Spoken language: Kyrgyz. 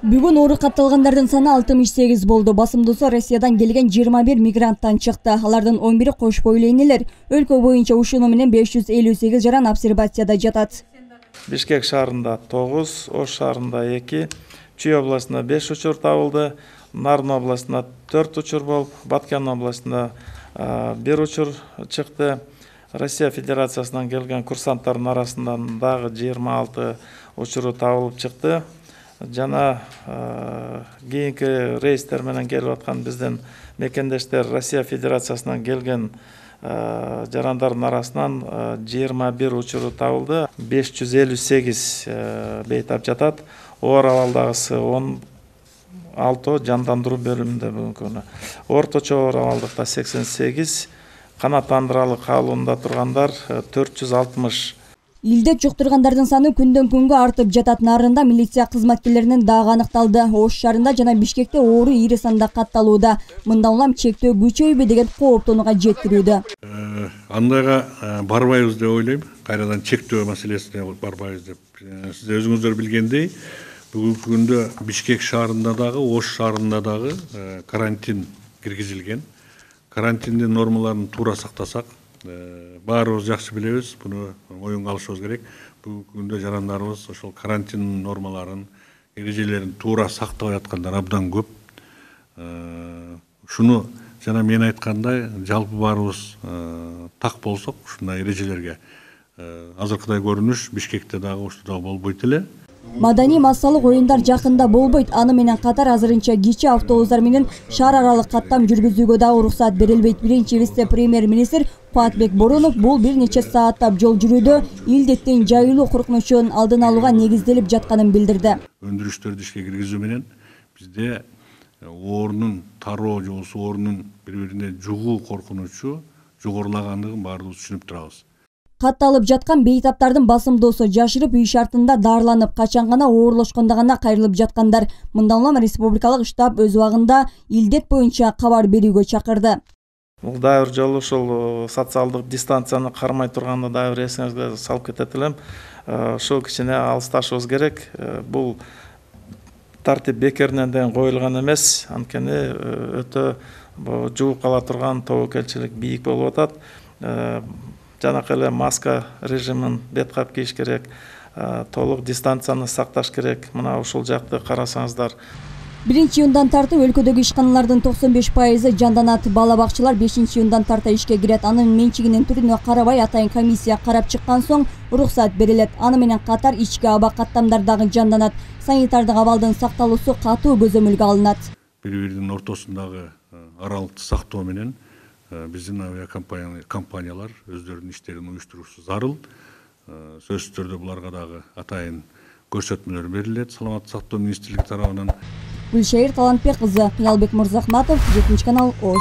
Бүгүн оору катталгандардын саны 68 болду. Басымдуусу Россиядан келген 21 мигранттан чыкты. Алардын 11 кош бойлуу энелер. Өлкө боюнча ушуну менен 558 жаран обсервацияда жатат. Бишкек шаарында 9, Ош шаарында 2, Чүй областында 5 учур табылды, Нарын областында 4 учур болуп, Баткен областында 1 учур чыкты. Россия Федерациясынан келген курсанттардын арасынан дагы 26 учуру табылып чыкты. Жана кийинки рейстер менен келип аткан биздин мекендештер Россия Федерациясынан келген жарандардын арасынан 21 учуру табылды. 558 бейтап жатат. Оор абалдагысы 16 жандандыруу бөлүмүндө бүгүнкү күнү. Орточо оор абалдыкта 88, канааттандыралы калыбында тургандар 460. Илдет жуктургандардын саны күндөн күнгө артып жатат. Нарында милиция кызматкерлеринин дагы аныкталды. Ош шаарында жана Бишкекте оору ири санда катталууда. Мындан улам чектөө күчөйбү деген кооптонууга жетирүүдө. Андайга барбайбыз деп ойлойм. Кайрадан чектөө маселесине барбайбыз деп. Сиз өзүңүздөр билгендей, бүгүнкү күндө Бишкек шаарында дагы, Ош шаарында дагы карантин киргизилген. Карантиндин нормаларын туура сактасак, баарыбыз жакшы билебиз, буну оюнга алышыбыз керек. Бүгүнкү күндө жарандарыбыз ошол карантин нормаларын, эрежелерин туура сактабай аткандар абдан көп. Ушуну жана мен айткандай, жалпы баарыбыз так болсок, ушундай эрежелерге азыркыдай көрүнүш Бишкекте дагы ошто болбойт эле. Маданий массалык оюндар жакында болбойт. Аны менен катар азырынча кичи автобустар менен шаар аралык каттам жүргүзүүгө дагы уруксат берилбейт. Биринчи вице-премьер-министр Фатбек Боронов бул бир нече сааттап жол жүрүүдө илдеттин жайылуу коркунучун алдын алууга негизделип жатканын билдирди. Өндүрүштөрдү ишке киргизүү менен бизде оорунун тароо же болбосо оорунун бири-бирине жугуу коркунучу жогорулагандыгын баарыбыз түшүнүп турабыз. Катталып жаткан бейтаптардын басымдуусу жашырып үй шартында даарыланып, качан гана оорлошкондо гана кайрылып жаткандар. Мындан улам республикалык штаб өз убагында илдет боюнча кабар берүүгө чакырды. Бул дагы бир жолу ушул социалдык дистанцияны кармай турганды дагы бир эсиңизге салып кетет элем. Ушул кичине алысташыбыз керек. Бул тартип бекеринен деген коюлган эмес. Анткени өтө жугуп кала турган тобокелчилик бийик болуп атат. Жанакы эле маска режимин беткап кийиш керек, толук дистанцияны сакташ керек. Мына ушул жакты карасаңыздар. 1-июндан тартып өлкөдөгү ишканалардын 95% жанданат. Бала бакчалар 5-июндан тарта ишке кирет. Анын менчигинин түрүнө карабай атайын комиссия карап чыккан соң уруксат берилет. Аны менен катар ички аба каттамдар дагы жанданат. Санитардык абалдын сакталуусу катуу көзөмөлгө алынат. Бири-биринин ортосундагы аралыкты сактоо менен биздин авиакомпаниялар өздөрүнүн иштерин уюштурушу зарыл. Сөзсүз түрдө буларга дагы атайын көрсөтмөлөр берилет Саламаттык сактоо министрлиги тарабынан. Гүлшайыр Талантбек кызы, Кыялбек Мырзахматов, 7 канал, Ош.